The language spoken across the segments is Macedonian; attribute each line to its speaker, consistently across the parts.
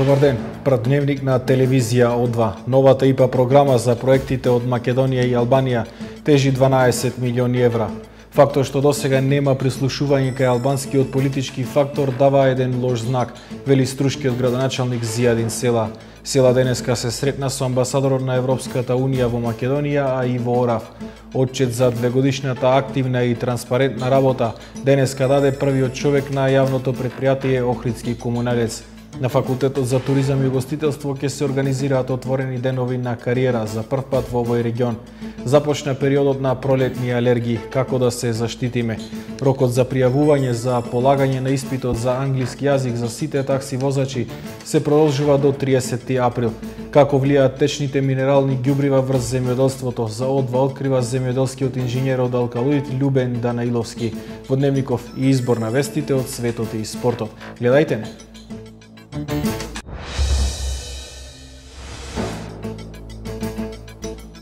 Speaker 1: Добар ден, пред дневник на телевизија О2. Новата ИПА програма за проектите од Македонија и Албанија тежи 12 милиони евра. Фактор што досега нема прислушување кај албанскиот политички фактор дава еден лош знак, вели струшкиот градоначалник Зијадин Села. Села денеска се сретна со амбасадорот на Европската Унија во Македонија, а и во Орав. Отчет за двегодишната активна и транспарентна работа денеска даде првиот човек на јавното претпријатие Охридски комуналец. На Факултетот за туризам и гостителство ќе се организираат отворени денови на кариера за прв пат во овој регион. Започна периодот на пролетни алергии, како да се заштитиме. Рокот за пријавување за полагање на испитот за англиски јазик за сите такси возачи се продолжува до 30 април. Како влијаат течните минерални ѓубрива врз земјоделството, за О2 открива земјоделскиот инженер од Алкалоид Љубен Данаиловски во дневников и избор на вестите од светот и спортот. Гледајте не!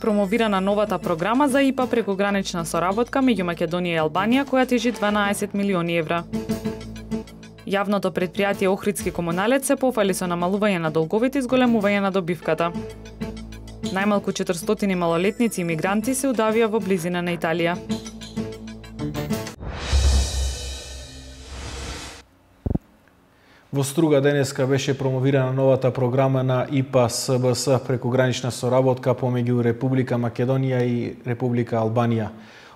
Speaker 2: Промовирана новата програма за ИПА прекогранична соработка меѓу Македонија и Албанија, која тежи 12 милиони евра. Јавното претпријатие Охридски комуналец се пофали со намалување на долговите и зголемување на добивката. Најмалку 400 малолетници и мигранти се удавија во близина на Италија.
Speaker 1: Во Струга денеска беше промовирана новата програма на ИПА СБС прекогранична соработка помеѓу Република Македонија и Република Албанија.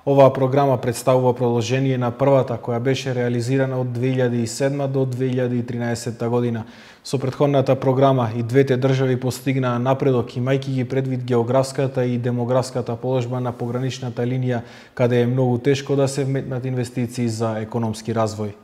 Speaker 1: Оваа програма представува продолжение на првата која беше реализирана од 2007 до 2013 година. Со претходната програма и двете држави постигнаа напредок, имајќи ги предвид географската и демографската положба на пограничната линија, каде е многу тешко да се вметнат инвестиции за економски развој.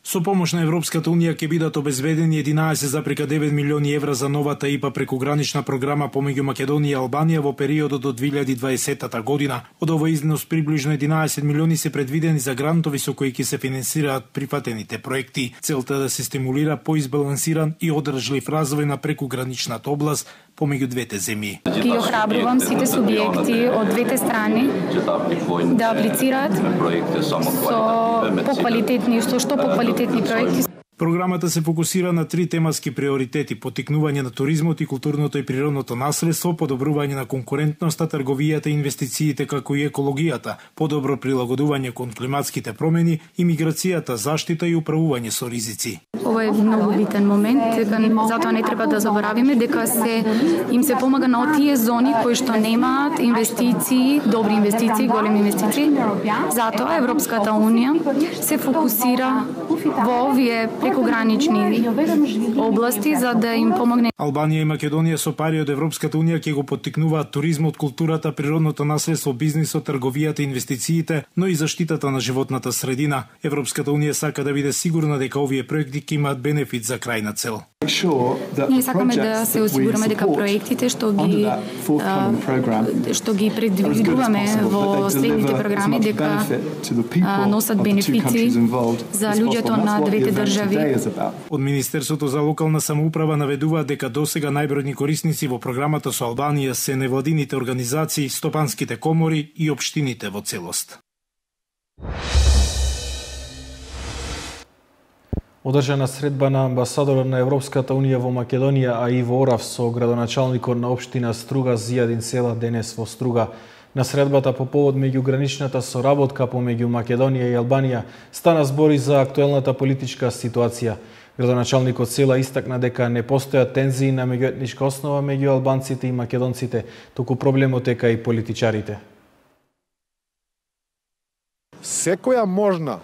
Speaker 3: Со помош на Европската Унија ќе бидат обезбедени 11,9 милиони евра за новата ИПА прекогранична програма помеѓу Македонија и Албанија во периодот до 2020 година. Од овој износ приближно 11 милиони се предвидени за грантови со кои ќе се финансираат прифатените проекти. Целта е да се стимулира поизбалансиран и одржлив развој на прекограничната област помеѓу двете земји.
Speaker 4: Ги охрабрувам сите субјекти од двете страни да аплицираат со поквалитетни, што поквалитетни проекти.
Speaker 3: Програмата се фокусира на 3 темаски приоритети: поттикнување на туризмот и културното и природното наследство, подобрување на конкурентноста, трговијата и инвестициите како и екологијата, подобро прилагодување кон климатските промени, имиграцијата, заштита и управување со ризици.
Speaker 4: Ова е многу битен момент, затоа не треба да заборавиме дека им се помага на отие зони кои што немаат инвестиции, добри инвестиции, големи инвестиции. Затоа Европската Унија се фокусира во овие прекогранични области за да им помогне.
Speaker 3: Албанија и Македонија со пари од Европската Унија ќе го поттикнуваат туризмот, културата, природното наследство, бизнисот, трговијата, инвестициите, но и заштитата на животната средина. Европската Унија сака да биде сигурна дека овие проекти ќе имаат бенефит за крајна цел.
Speaker 4: Ние сакаме да се осигураме дека проектите што ги предвидуваме во следните програми дека носат бенефити за луѓето на двете држави.
Speaker 3: Од Министерството за локална самоуправа наведуваат дека досега најбројни корисници во програмата со Албанија се невладините организации, стопанските комори и општините во целост.
Speaker 1: Одржана средба на амбасадорот на Европската Унија во Македонија, а и во Орав со градоначалникот на општина Струга Зијадин Села денес во Струга. На средбата по повод меѓуграничната соработка помеѓу Македонија и Албанија стана збори за актуелната политичка ситуација. Градоначалникот Села истакна дека не постојат тензии на меѓуетничка основа меѓу албанците и македонците, туку проблемот е кај политичарите.
Speaker 5: Секоја можна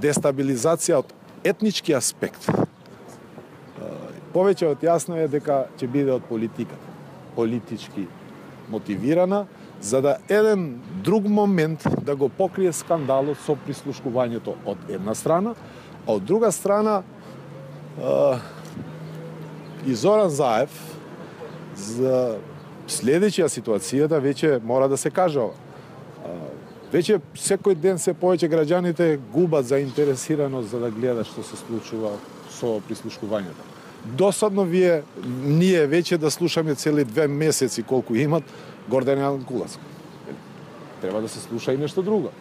Speaker 5: дестабилизација од етнички аспект повеќе од јасно е дека ќе биде од политиката, политички мотивирана, за да еден друг момент да го покрие скандалот со прислушкувањето од една страна, а од друга страна и Зоран Заев за следеќа ситуацијата веќе мора да се каже ова. Веќе секој ден се повеќе граѓаните губат заинтересираност за да гледат што се случува со прислушкувањето. Досадно ние веќе да слушаме цели 2 месеци колку имат Гордан Јанкуловски. Треба да се слуша и нешто друго.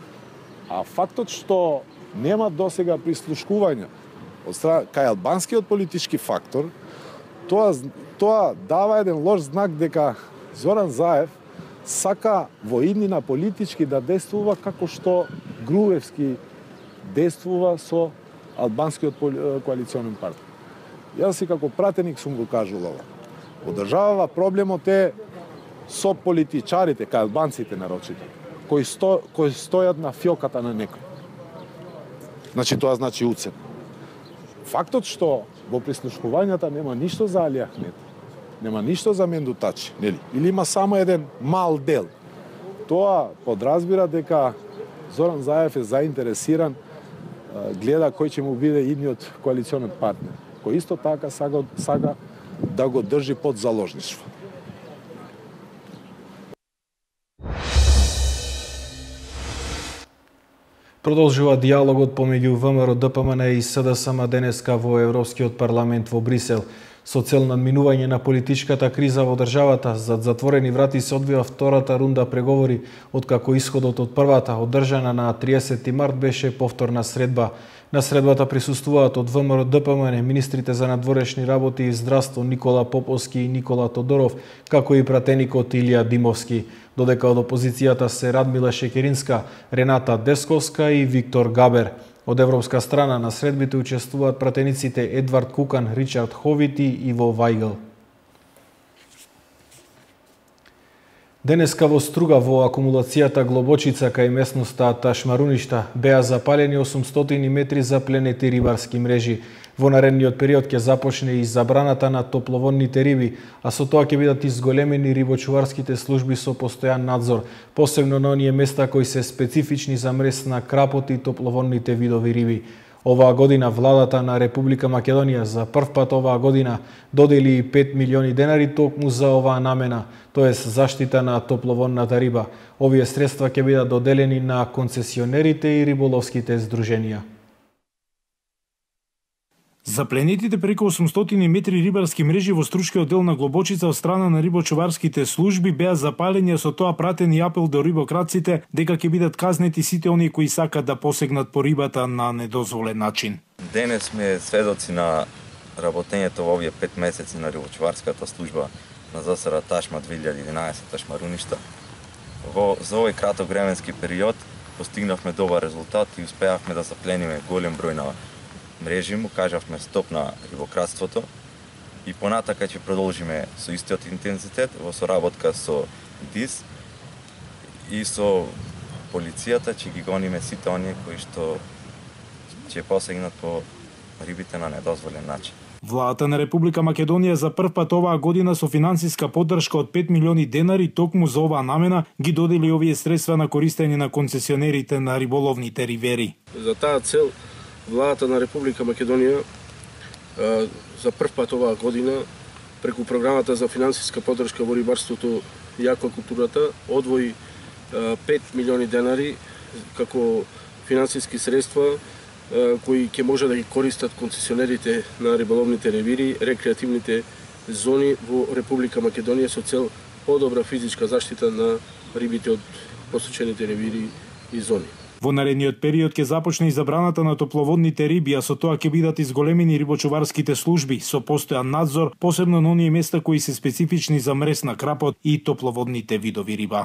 Speaker 5: А фактот што нема досега прислушкување од страна кај албанскиот политички фактор, тоа дава еден лош знак дека Зоран Заев сака во иднина политички да действува како што Груевски действува со албанскиот коалиционен партнер. Јас си како пратеник сум го кажал ова. Одржавава проблемот е со политичарите, кај албанците нарочито, кои стојат на фиоката на некој. Значи тоа значи уцен. Фактот што во прислушкувањата нема ништо за Али Ахмед, нема ништо за Менду Тачи, нели? Или има само еден мал дел. Тоа подразбира дека Зоран Заев е заинтересиран, гледа кој ќе му биде идниот коалиционен партнер, кој исто така сага да го држи под заложништво.
Speaker 1: Продолжува диалогот помеѓу ВМРО-ДПМН и СДСМ денеска во Европскиот парламент во Брисел. Со цел надминување на политичката криза во државата, зад затворени врати се одвива втората рунда преговори, откако исходот од првата, одржана на 30 март, беше повторна средба. На средбата присуствуваат од ВМРО-ДПМН министрите за надворешни работи и здравство Никола Поповски и Никола Тодоров, како и пратеникот Илија Димовски, додека од опозицијата се Радмила Шекеринска, Рената Десковска и Виктор Габер. Од европска страна на средбите учествуваат пратениците Едвард Кукан, Ричард Ховит и Иво Вајгл. Денеска во Струга во акумулацијата Глобочица кај местноста Ташмаруништа беа запалени 800 метри запленети рибарски мрежи. Во наредниот период ќе започне и забраната на топловодните риби, а со тоа ќе бидат изголемени рибочуварските служби со постојан надзор, посебно на оние места кои се специфични за мрез на крапот и топловодните видови риби. Оваа година владата на Република Македонија за прв пат оваа година додели 5 милиони денари токму за оваа намена, тоест заштита на топловодната риба. Овие средства ќе бидат доделени на концесионерите и риболовските здруженија.
Speaker 3: Запленетите преку 800 метри рибарски мрежи во струшкиот дел на Глобочица од страна на рибочуварските служби беа запалени, со тоа пратен и апел до рибокраците дека ќе бидат казнети сите оние кои сакат да посегнат по рибата на недозволен начин.
Speaker 6: Денес сме сведоци на работењето во овие 5 месеци на рибочуварската служба на ЗСР Ташма 2011 Ташмаруништа. За овој краток временски период постигнавме добар резултат и успеавме да заплениме голем број на мрежи, му кажавме стоп на рибократството и понатака ќе продолжиме со истиот интензитет во соработка со ДИС и со полицијата, ќе ги гониме сите оние кои што ќе посегнат по рибите на недозволен начин.
Speaker 3: Владата на Република Македонија за прв пат оваа година со финансиска поддршка од 5 милиони денари токму за оваа намена ги додели овие средства на користење на концесионерите на риболовните ривери.
Speaker 7: За таа цел Владата на Република Македонија за прв пат оваа година преку програмата за финансиска поддршка во рибарството и аквакултурата одвои 5 милиони денари како финансиски средства кои ќе може да ги користат концесионерите на риболовните ревири, рекреативните зони во Република Македонија со цел подобра физичка заштита на рибите од посечените ревири и зони.
Speaker 3: Во наредниот период ќе започне и забраната на топловодните риби, а со тоа ќе бидат изголемени рибочуварските служби со постојан надзор, посебно на оние места кои се специфични за мрез на крапот и топловодните видови риба.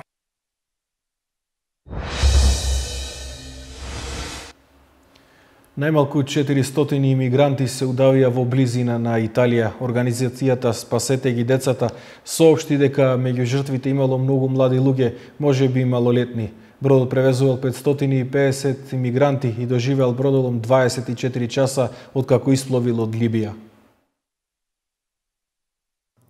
Speaker 1: Најмалку 400 имигранти се удавија во близина на Италија. Организацијата Спасете ги децата соопшти дека меѓу жртвите имало многу млади луѓе, можеби малолетни. Бродот превезувал 550 имигранти и доживеал бродолом 24 часа откако испловил од Либија.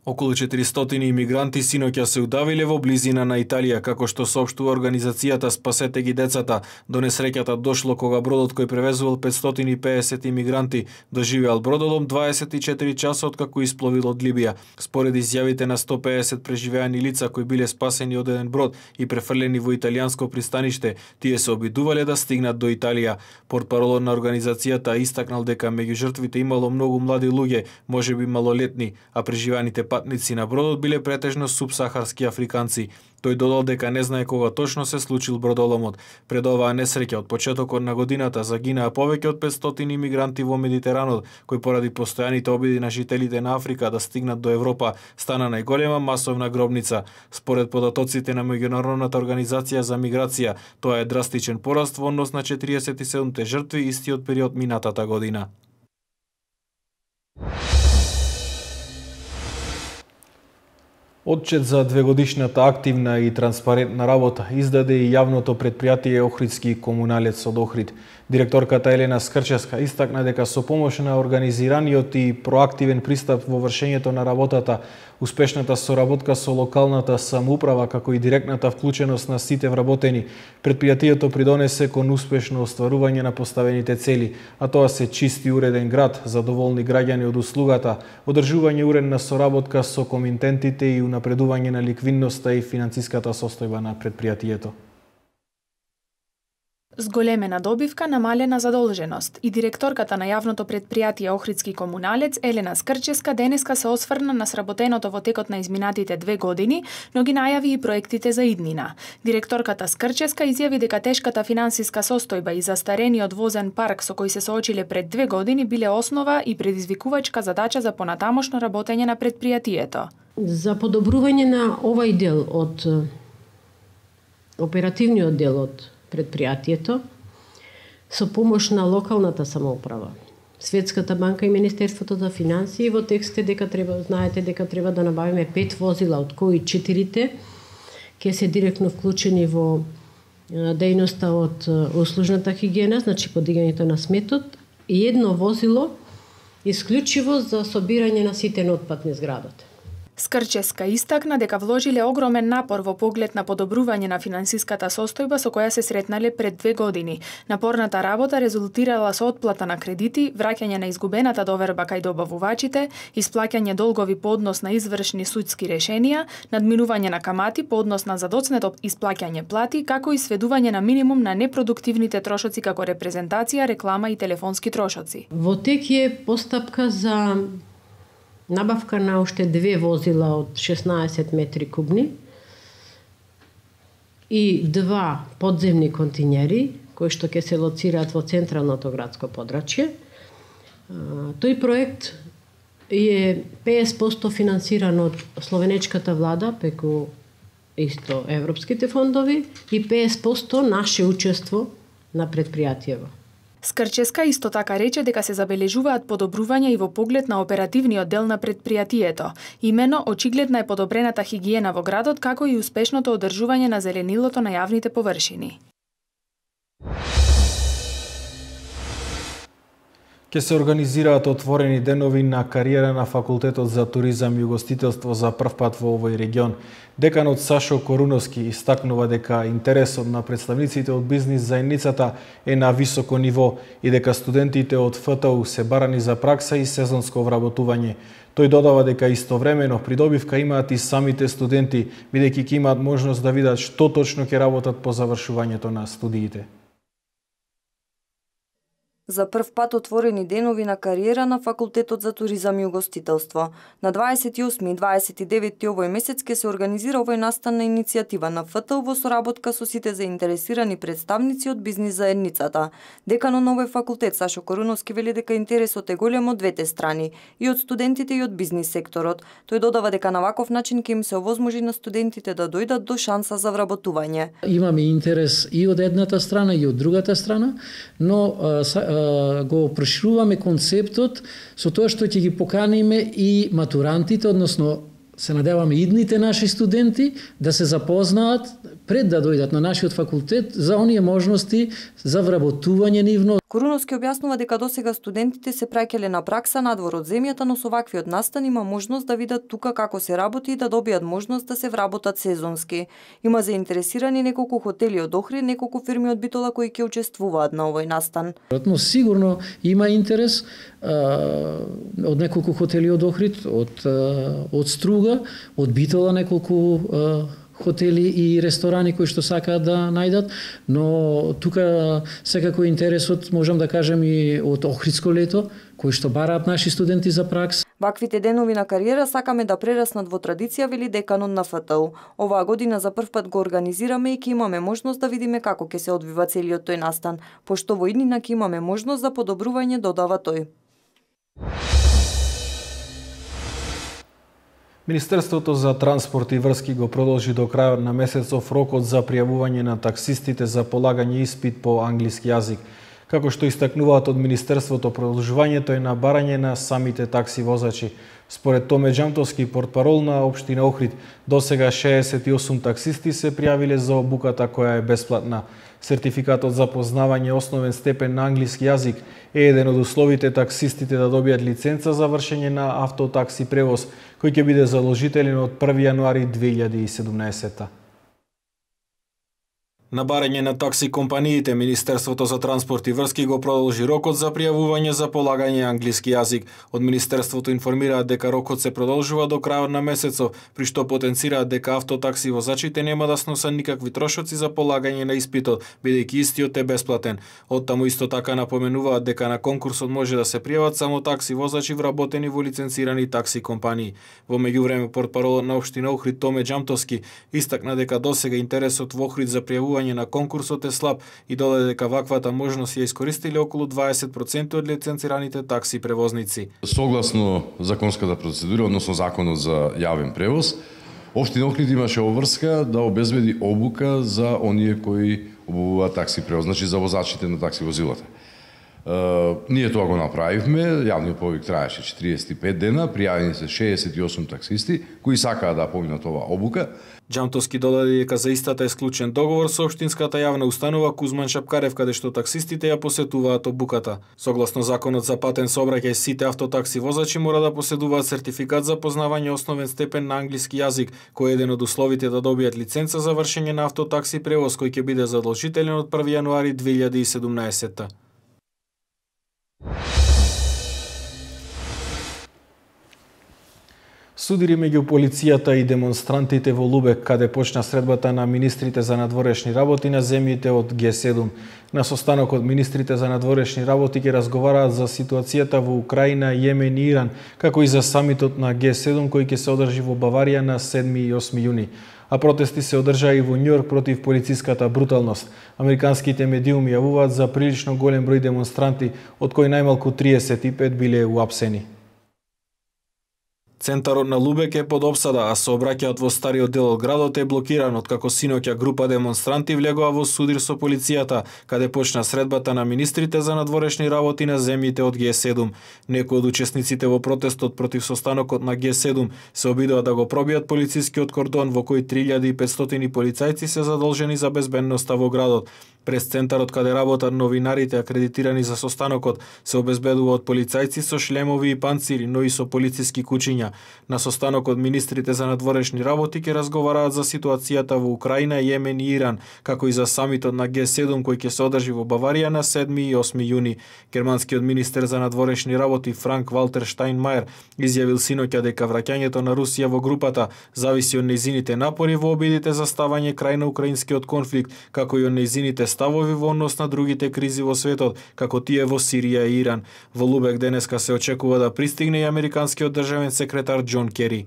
Speaker 1: Околу 400 имигранти синоќа се удавиле во близина на Италија, како што соопштува организацијата Спасете ги децата. До несреќата дошло кога бродот кој превезувал 550 имигранти доживеал бродолом 24 часа откако испловил од Либија. Според изјавите на 150 преживеани лица кои биле спасени од еден брод и префрлени во италијанско пристаниште, тие се обидувале да стигнат до Италија. Портпаролот на организацијата истакнал дека меѓу жртвите имало многу млади луѓе, можеби малолетни, а преживеаните патници на бродот биле претежно субсахарски африканци. Тој додал дека не знае кога точно се случил бродоломот. Пред оваа несреќа од почетокот на годината загинаа повеќе од 500 имигранти во Медитеранот, кој поради постојаните обиди на жителите на Африка да стигнат до Европа стана најголема масовна гробница. Според податоците на Меѓународната организација за миграција, тоа е драстичен пораст во однос на 47 жртви истиот период минатата година. Отчет за двегодишната активна и транспарентна работа издаде и јавното предпријатие Охридски комуналец од Охрид. Директорката Елена Скрческа истакна дека со помош на организираниот и проактивен пристап во вршењето на работата, успешната соработка со локалната самоуправа како и директната вклученост на сите вработени, предпријатието придонесе кон успешно остварување на поставените цели, а тоа се чист и уреден град, задоволни граѓани од услугата, одржување уредна соработка со комитентите и унапредување на ликвидноста и финансиската состојба на предпријатието.
Speaker 8: Зголемена добивка, намалена задолженост и директорката на јавното предпријатие Охридски комуналец Елена Скрческа денеска се осврна на сработеното во текот на изминатите 2 години, но ги најави и проектите за иднина. Директорката Скрческа изјави дека тешката финансиска состојба и застарениот возен парк со кој се соочиле пред 2 години биле основа и предизвикувачка задача за понатамошно работење на предпријатието.
Speaker 9: За подобрување на овај дел од оперативниот дел од предпријатието, со помош на локалната самоуправа, Светската банка и Министерството за финансии, во текст дека знаете дека треба да набавиме 5 возила, од кои 4 ќе се директно вклучени во дејноста од услужната хигиена, значи подигањето на сметот, и 1 возило исклучиво за собирање на ситен отпад низ градот.
Speaker 8: Скрческа истакна дека вложиле огромен напор во поглед на подобрување на финансиската состојба со која се сретнале пред 2 години. Напорната работа резултирала со отплата на кредити, враќање на изгубената доверба кај добавувачите, исплаќање долгови по однос на извршни судски решенија, надминување на камати по однос на задоцнето исплаќање плати, како и сведување на минимум на непродуктивните трошоци како репрезентација, реклама и телефонски трошоци.
Speaker 9: Во тек е постапка за набавка на уште 2 возила од 16 метри кубни и 2 подземни континери, кои што ќе се лоцираат во централното градско подрачје. Тој проект е 50% финансиран од словенечката влада преку исто европските фондови и 50% наше учество на предпријатиево.
Speaker 8: Скрческа исто така рече дека се забележуваат подобрувања и во поглед на оперативниот дел на предпријатието. Имено, очигледна е подобрената хигиена во градот, како и успешното одржување на зеленилото на јавните површини.
Speaker 1: Ке се организираат отворени денови на кариера на Факултетот за туризам и угостителство за прв пат во овој регион. Деканот Сашо Коруновски истакнува дека интересот на представниците од бизнис заедницата е на високо ниво и дека студентите од ФТУ се барани за пракса и сезонско вработување. Тој додава дека истовремено придобивка имаат и самите студенти, бидејќи ќе имаат можност да видат што точно ќе работат по завршувањето на студиите.
Speaker 10: За прв пат отворени денови на кариера на Факултетот за туризам и угостителство. На 28 и 29 овој месец ќе се организира овој настанна иницијатива на ФТУ во соработка со сите заинтересирани представници од бизнис заедницата. Деканот на овој факултет Сашо Коруновски вели дека интересот е голем од двете страни, и од студентите и од бизнис секторот. Тој додава дека на ваков начин ќе им се овозможи на студентите да дојдат до шанса за вработување.
Speaker 11: Имаме интерес и од едната страна и од другата страна, но го прошируваме концептот со тоа што ќе ги поканиме и матурантите, односно се надеваме идните наши студенти да се запознаат пред да дојдат на нашиот факултет за оние можности за вработување нивно.
Speaker 10: Коруновски објаснува дека досега студентите се праќале на пракса надвор од земјата, но со ваквиот настан има можност да видат тука како се работи и да добијат можност да се вработат сезонски. Има заинтересирани неколку хотели од Охрид, неколку фирми од Битола кои ќе учествуваат на овој настан.
Speaker 11: Но сигурно има интерес од неколку хотели од Охрид, од Струга, од Битола неколку хотели и ресторани кои што сакаат да најдат, но тука секако интересот, можам да кажем, и од Охридско лето, кои што бараат наши студенти за пракса.
Speaker 10: Ваквите денови на кариера сакаме да прераснат во традиција, вели деканот на ФТУ. Оваа година за прв пат го организираме и ќе имаме можност да видиме како ќе се одвива целиот тој настан, пошто во иднина ќе имаме можност за подобрување, додава тој.
Speaker 1: Министерството за транспорт и врски го продолжи до крајот на месецов рокот за пријавување на таксистите за полагање испит по англиски јазик. Како што истакнуваат од Министерството, продолжувањето е на барање на самите такси возачи. Според Томе Џамтовски, портпарол на општина Охрид, досега 68 таксисти се пријавиле за обуката која е бесплатна. Сертификатот за познавање основен степен на англиски јазик е еден од условите таксистите да добијат лиценца за вршење на автотакси превоз, кој ќе биде заложителен од 1 јануари 2017. На барање на такси компаниите, Министерството за транспорт и врски го продолжи рокот за пријавување за полагање англиски јазик. Од Министерството информираат дека рокот се продолжува до крајот на месецов, при што потенцираат дека автотакси возачите нема да сносат никакви трошоци за полагање на испитот, бидејќи истиот е бесплатен. Оттаму исто така напоменуваат дека на конкурсот може да се пријават само такси возачи вработени во лиценцирани такси компании. Во меѓувреме, портпаролот на општина Охрид Томе Џамтовски истакна дека досега интересот во Охрид за пријавување на конкурсот е слаб и додаде дека ваквата можност ја искористиле околу 20% од лиценцираните такси превозници.
Speaker 12: Согласно законската процедура, односно законот за јавен превоз, општина Охрид имаше обврска да обезбеди обука за оние кои обувуваат такси превоз, значи за возачите на такси возилата. Ние тоа го направивме, јавниот повик траеше 45 дена, пријавени се 68 таксисти кои сакаат да поминат оваа обука.
Speaker 1: Џамтовски додаде дека за истата е склучен договор со општинската јавна установа Кузман Шапкарев, каде што таксистите ја посетуваат обуката. Согласно законот за патен сообраќај, сите автотакси возачи мора да поседуваат сертификат за познавање основен степен на англиски јазик, кој е еден од условите да добијат лиценца за вршење на автотакси превоз, кој ќе биде задолжителен од 1 јануари 2017. Судири меѓу полицијата и демонстрантите во Лубек, каде почна средбата на министрите за надворешни работи на земјите од Г7. На состанокот министрите за надворешни работи ќе разговараат за ситуацијата во Украина, Јемен и Иран, како и за самитот на Г7 кој ќе се одржи во Баварија на 7 и 8 јуни. А протести се одржаа и во Њујорк против полициската бруталност. Американските медиуми јавуваат за прилично голем број демонстранти, од кои најмалку 35 биле уапсени. Центарот на Лубек е под опсада, а сообраќајот во стариот дел од градот е блокиран, откако синоќа група демонстранти влегоа во судир со полицијата, каде почна средбата на министрите за надворешни работи на земјите од Г7. Некои од учесниците во протестот против состанокот на Г7 се обидоа да го пробијат полицискиот кордон, во кој 3500 полицајци се задолжени за безбедноста во градот. През центарот каде работат новинарите акредитирани за состанокот се обезбедува од полицајци со шлемови и панцири, но и со полициски кучиња. На состанокот министрите за надворешни работи ќе разговараат за ситуацијата во Украина, Јемен и Иран, како и за самитот на Г7 кој ќе се одржи во Баварија на 7 и 8 јуни. Германскиот министер за надворешни работи Франк Валтер Штајнмајер изјавил синоќа дека враќањето на Русија во групата зависи од нејзините напори во обидите за ставање крај на украинскиот конфликт, како и од нејзините ставови во однос на другите кризи во светот, како тие во Сирија и Иран. Во Лубек денеска се очекува да пристигне и американскиот државен секретар Џон Кери.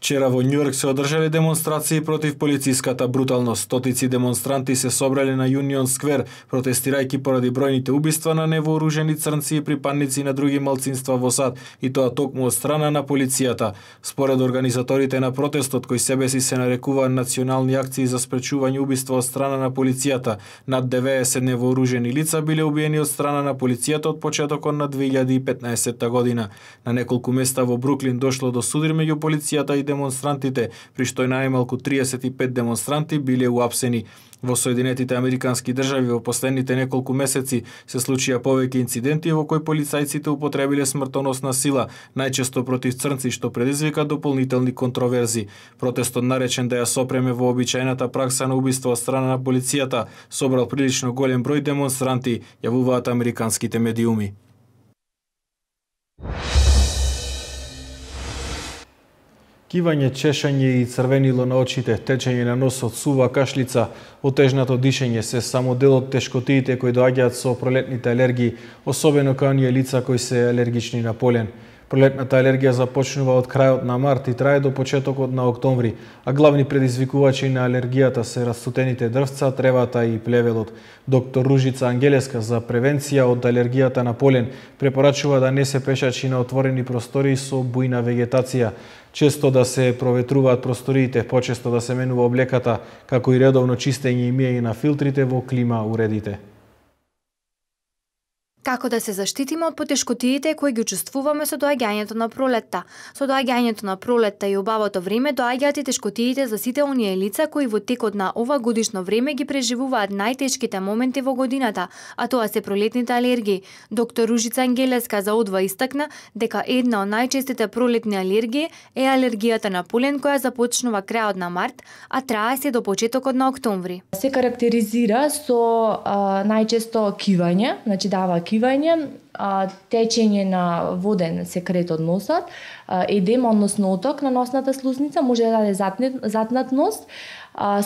Speaker 1: Вчера во Њујорк се одржале демонстрации против полициската бруталност. Стотици демонстранти се собрале на Юнион Сквер, протестирајќи поради бројните убиства на невооружени црнци и припадници на други малцинства во САД, и тоа токму од страна на полицијата. Според организаторите на протестот, кои себеси се нарекуваат национални акции за спречување убиства од страна на полицијата, над 90 невооружени лица биле убиени од страна на полицијата од почетокот на 2015 година. На неколку места во Бруклин дошло до судир меѓу полицијата и демонстрантите, при што најмалку 35 демонстранти биле уапсени. Во Соединетите Американски држави во последните неколку месеци се случија повеќе инциденти во кои полицајците употребиле смртоносна сила, најчесто против црнци, што предизвика дополнителни контроверзи. Протестот, наречен да ја сопреме во обичајната пракса на убиство од страна на полицијата, собрал прилично голем број демонстранти, јавуваат американските медиуми. Кивање, чешање и црвенило на очите, течење на носот, сува, кашлица, отежнато дишење се само дел од тешкотиите кои доаѓаат со пролетните алергии, особено кај оние лица кои се алергични на полен. Пролетната алергија започнува од крајот на март и трае до почетокот на октомври, а главни предизвикувачи на алергијата се растутените дрвца, тревата и плевелот. Доктор Ружица Ангелеска за превенција од алергијата на полен препорачува да не се пешачи на отворени простори со бујна вегетација, често да се проветруваат просториите, почесто да се менува облеката, како и редовно чистење и миење на филтрите во клима уредите.
Speaker 13: Како да се заштитиме од потешкотиите кои ги чувствуваме со доаѓањето на пролетта? Со доаѓањето на пролетта и убавото време доаѓаат и тешкотиите за сите оние лица кои во текот на ова годишно време ги преживуваат најтешките моменти во годината, а тоа се пролетните алергии. Доктор Ружица Ангелеска за Одва истакна дека една од најчестите пролетни алергии е алергијата на полен која започнува крајот на март, а трае се до почетокот на октомври.
Speaker 14: Се карактеризира со најчесто кивање, значи дава кивање, течење на воден секрет од носот, едем, односно оток на носната слузница, може да даде затнат нос,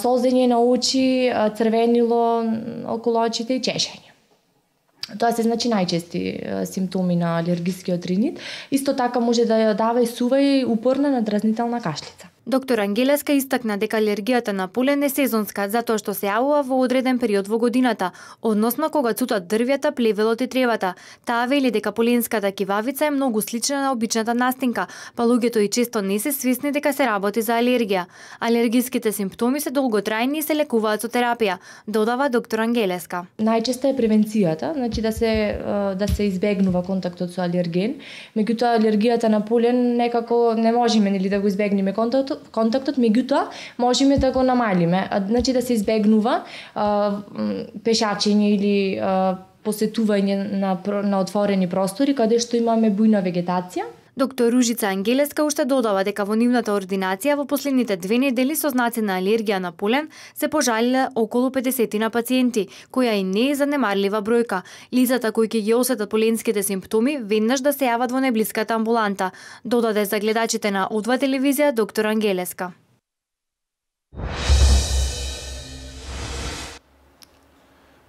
Speaker 14: солзење на очи, црвенило околу очите и чешење. Тоа се значи најчести симптоми на алергискиот ринит. Исто така може да дава и сува и упорна надразнителна кашлица.
Speaker 13: Доктор Ангелеска истакна дека алергијата на полен е сезонска, затоа што се јавува во одреден период во годината, односно кога цутат дрвјата, плевелот и тревата. Таа вели дека поленската кивавица е многу слична на обичната настинка, па луѓето и често не се свесни дека се работи за алергија. Алергиските симптоми се долготрајни и се лекуваат со терапија, додава доктор Ангелеска.
Speaker 14: Најчесто е превенцијата, значи да се избегнува контактот со алерген, меѓутоа алергијата на полен некако не можеме нели да го избегнеме контактот, меѓутоа можеме да го намалиме, значи да се избегнува пешачење или посетување на отворени простори каде што имаме бујна вегетација.
Speaker 13: Доктор Ружица Ангелеска уште додава дека во нивната ординација во последните 2 недели со знаци на алергија на полен се пожалиле околу 50 на пациенти, која и не е занемарлива бројка. Лицата кои ќе ги осетат поленските симптоми веднаш да се јават во најблиската амбуланта, додаде за гледачите на Одва телевизија доктор Ангелеска.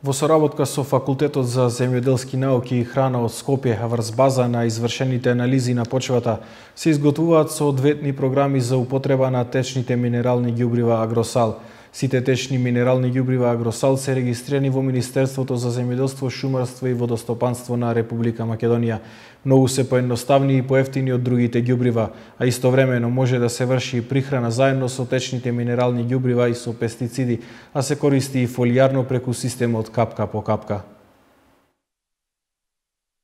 Speaker 1: Во соработка со Факултетот за земјоделски науки и храна од Скопје, врз база на извршените анализи на почвата, се изготвуваат соодветни програми за употреба на течните минерални ѓубрива Агросал. Сите течни минерални ѓубрива Агросал се регистрирани во Министерството за земјоделство, шумарство и водостопанство на Република Македонија. Многу се поедноставни и поевтини од другите ѓубрива, а истовремено може да се врши и прихрана заедно со течните минерални ѓубрива и со пестициди, а се користи и фолијарно преку системот капка по капка.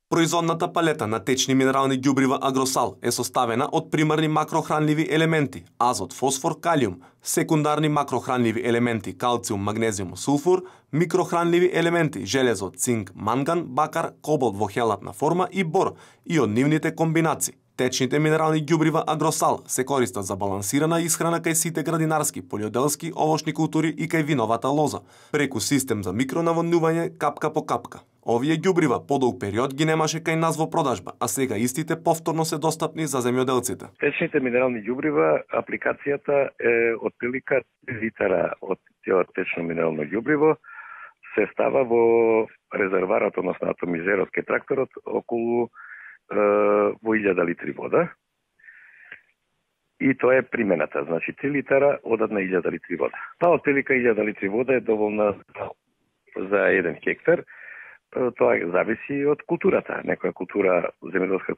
Speaker 15: Производната палета на течни минерални ѓубрива Агросал е составена од примарни макрохранливи елементи азот, фосфор, калиум, секундарни макрохранливи елементи калциум, магнезиум, сулфур, микрохранливи елементи железо, цинк, манган, бакар, кобалт во хелатна форма и бор и од нивните комбинации. Течните минерални ѓубрива Агросал се користат за балансирана исхрана кај сите градинарски, полјоделски, овошни култури и кај виновата лоза, преку систем за микронаводнување капка по капка. Овие ѓубрива подолг период ги немаше кај нас во продажба, а сега истите повторно се достапни за земјоделците.
Speaker 16: Течните минерални ѓубрива, апликацијата е отприлика 3 литара од течно минерално ѓубриво се става во резерварот, односно атомизерот кај тракторот околу во 1000 литри вода. И тоа е примената, значи 3 литара одат на 1000 литри вода. Па отприлика 1000 литри вода е доволна за 1 хектар. Тоа зависи од културата. Некоја култура, земјоделска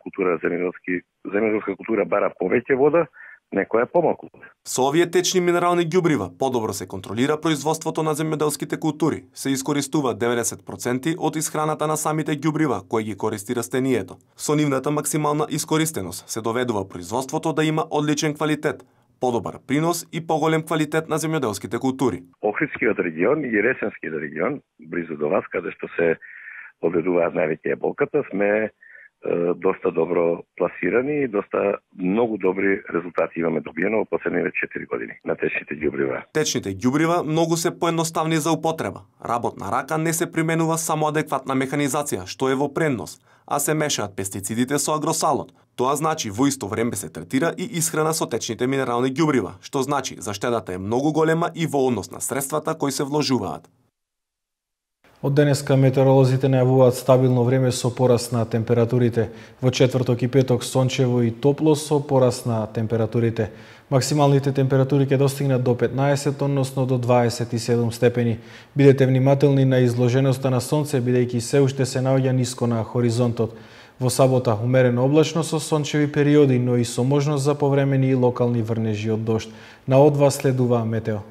Speaker 16: култура бара повеќе вода, некоја помалку.
Speaker 15: Со овие течни минерални ѓубрива подобро се контролира производството на земјоделските култури. Се искористува 90% од исхраната на самите ѓубрива кои ги користи растението. Со нивната максимална искористеност се доведува производството да има одличен квалитет, подобар принос и поголем квалитет на земјоделските култури.
Speaker 16: Охридскиот регион и Ресенскиот регион, близу до вас, каде што се одредуваат највеќе еболката, сме доста добро пласирани и доста многу добри резултати имаме добиено во последните 4 години на течните ѓубрива.
Speaker 15: Течните ѓубрива многу се поедноставни за употреба. Работна рака не се применува само адекватна механизација, што е во преднос, а се мешаат пестицидите со агросалот. Тоа значи во исто време се третира и исхрана со течните минерални ѓубрива, што значи заштедата е многу голема и во однос на средствата кои се вложуваат.
Speaker 1: Од денеска метеоролозите најавуваат стабилно време со пораст на температурите. Во четврток и петок сончево и топло со пораст на температурите. Максималните температури ќе достигнат до 15, односно до 27 степени. Бидете внимателни на изложеноста на сонце, бидејќи се уште се наоѓа ниско на хоризонтот. Во сабота умерено облачно со сончеви периоди, но и со можност за повремени и локални врнежи од дожд. На О2 следува метео.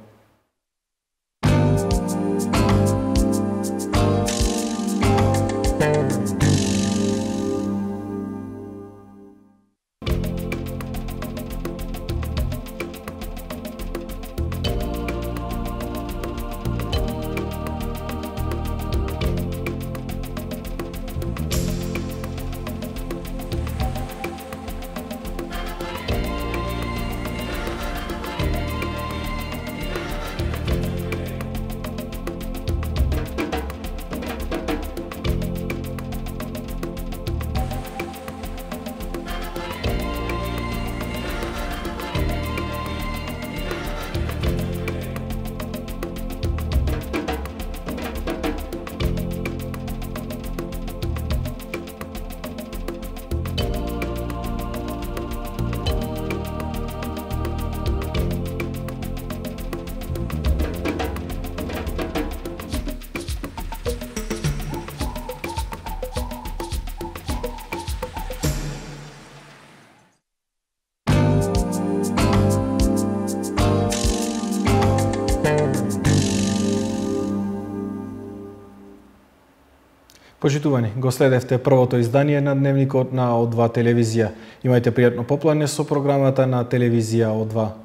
Speaker 1: Почитувани, го следевте првото издание на Дневникот на О2 телевизија. Имајте пријатно поплање со програмата на телевизија О2.